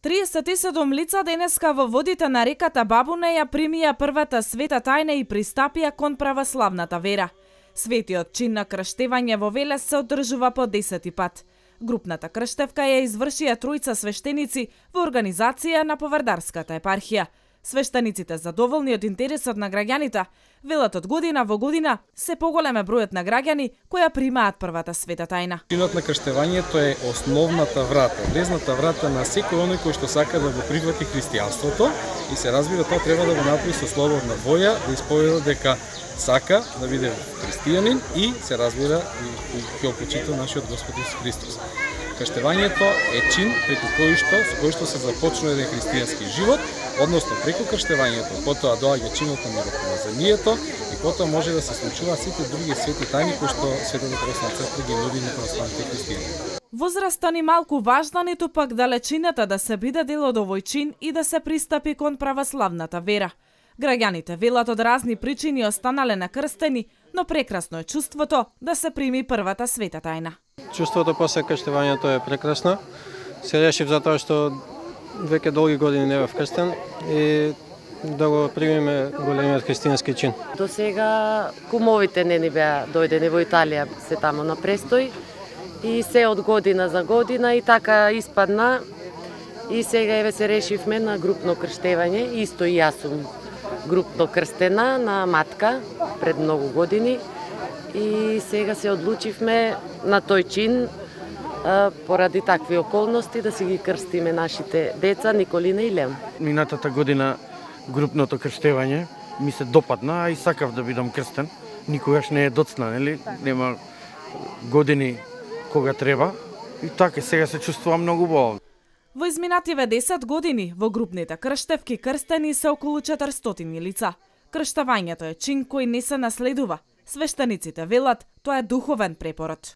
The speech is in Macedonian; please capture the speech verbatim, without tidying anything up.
триесет и седум лица денеска во водите на реката Бабуне ја примија првата света тајна и пристапија кон православната вера. Светиот чин на крштевање во Велес се одржува по десети пат. Групната крштевка ја извршија тројца свештеници во организација на Повардарската епархија. Свештениците задоволни од интересот на граѓаните, велат од година во година се поголем е бројот на граѓани кои примаат првата света тајна. Чинот на крштевањето е основната врата, влезната врата на секој оној кој што сака да го прифати христијанството и се разбира тоа треба да го направи со слободна воја, да исповеда дека сака да биде христијанин и се разбира и ќе почита нашиот Господ Исус Христос. Крштевањето е чин преку кој што со кој што се започнува еден христијански живот, односно преку крштевањето, потоа доаѓа чинот на миропомазанието и потоа може да се случуваат сите други свети тајни кои што Светата православна црква ги нуди на православните христијани. Возраста ни малку важна, ниту пак далечината да се биде дел од овој чин и да се пристапи кон православната вера. Граѓаните велат од разни причини останале накрстени, но прекрасно е чувството да се прими првата света тајна. Чувството после крштевањето е прекрасно. Се решив затоа што веќе долги години не бев крстен и да го примиме големиот христијански чин. До сега кумовите не ни беа дојдени во Италија, се тамо на престој и се од година за година и така испадна и сега еве се решивме на групно крштевање, исто и јас сум групно крстена на матка пред многу години и сега се одлучивме на тој чин поради такви околности да си ги крстиме нашите деца Николина и Леон. Минатата година групното крштевање ми се допадна, а и сакав да бидам крстен. Никогаш не е доцна, нели? Нема години кога треба. И така сега се чувствувам многу убаво. Во изминативе десет години во групните крштевки крстени се околу четиристотини лица. Крштавањето е чин кој не се наследува. Свештениците велат тоа е духовен препород.